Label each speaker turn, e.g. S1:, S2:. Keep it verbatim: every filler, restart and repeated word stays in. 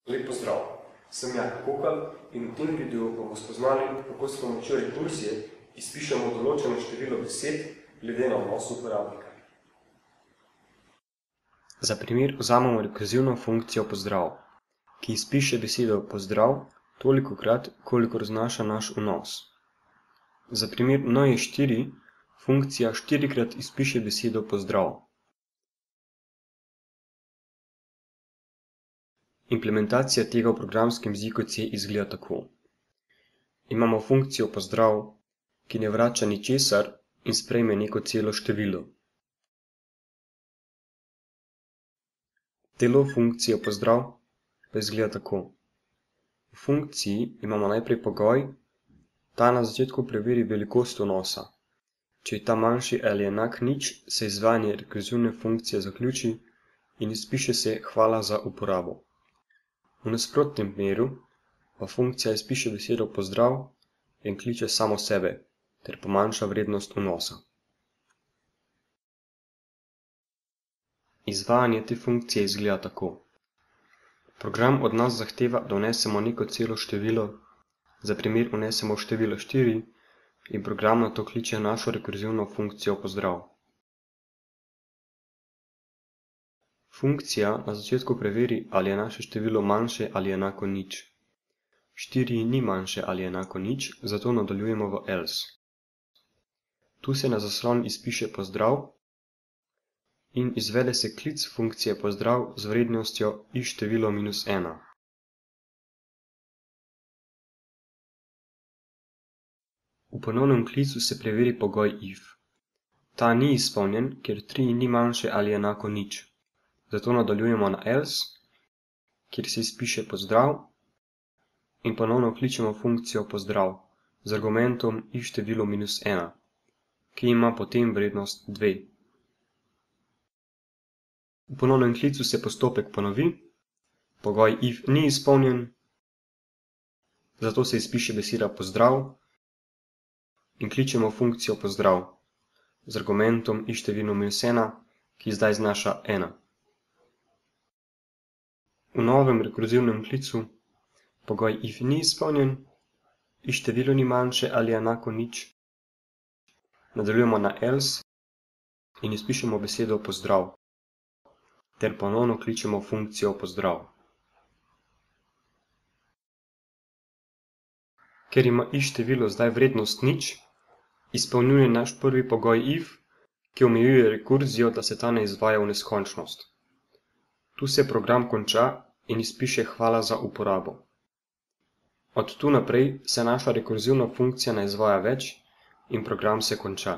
S1: Lep pozdrav, sem Jaka Kokal in v tem videu bomo spoznali, kako s pomočjo rekurzije izpišemo določeno število besed glede na vnos uporabnika. Za primer vzamemo rekurzivno funkcijo pozdrav, ki izpiše besedo pozdrav tolikokrat, kolikor znaša naš vnos. Za primer n je štiri, funkcija štirikrat izpiše besedo pozdrav. Implementacija tega v programskem jeziku C izgleda tako. Imamo funkcijo pozdrav, ki ne vrača ničesar in sprejme neko celo število. Telo funkcije pozdrav pa izgleda tako. V funkciji imamo najprej pogoj, ta na začetku preveri velikost vnosa. Če je ta manjši ali enak nič, se izvajanje rekurzivne funkcije zaključi in izpiše se hvala za uporabo. V nasprotnem primeru pa funkcija izpiše besedo pozdrav in kliče samo sebe ter pomanjša vrednost vnosa. Izvajanje te funkcije izgleda tako. Program od nas zahteva, da vnesemo neko celo število, za primer vnesemo število štiri in program na to kliče našo rekurzivno funkcijo pozdrav. Funkcija na začetku preveri, ali je naše število manjše ali enako nič. štiri ni manjše ali enako nič, zato nadaljujemo v else. Tu se na zaslon izpiše pozdrav in izvede se klic funkcije pozdrav z vrednostjo i število minus ena. V ponovnem klicu se preveri pogoj if. Ta ni izpolnjen, ker tri ni manjše ali enako nič. Zato nadaljujemo na else, kjer se izpiše pozdrav in ponovno kličemo funkcijo pozdrav z argumentom i število minus ena, ki ima potem vrednost dve. V ponovnem klicu se postopek ponovi, pogoj if ni izpolnjen, zato se izpiše beseda pozdrav in kličemo funkcijo pozdrav z argumentom i število minus ena, ki zdaj znaša ena. V novem rekurzivnem klicu pogoj if ni izpolnjen, i število ni manjše ali enako nič. Nadaljujemo na else in izpišemo besedo pozdrav ter ponovno kličemo funkcijo pozdrav. Ker ima i število zdaj vrednost nič, izpolnjuje naš prvi pogoj if, ki omejuje rekurzijo, da se ta ne izvaja v neskončnost. Tu se program konča in izpiše hvala za uporabo. Od tu naprej se naša rekurzivna funkcija ne izvaja več in program se konča.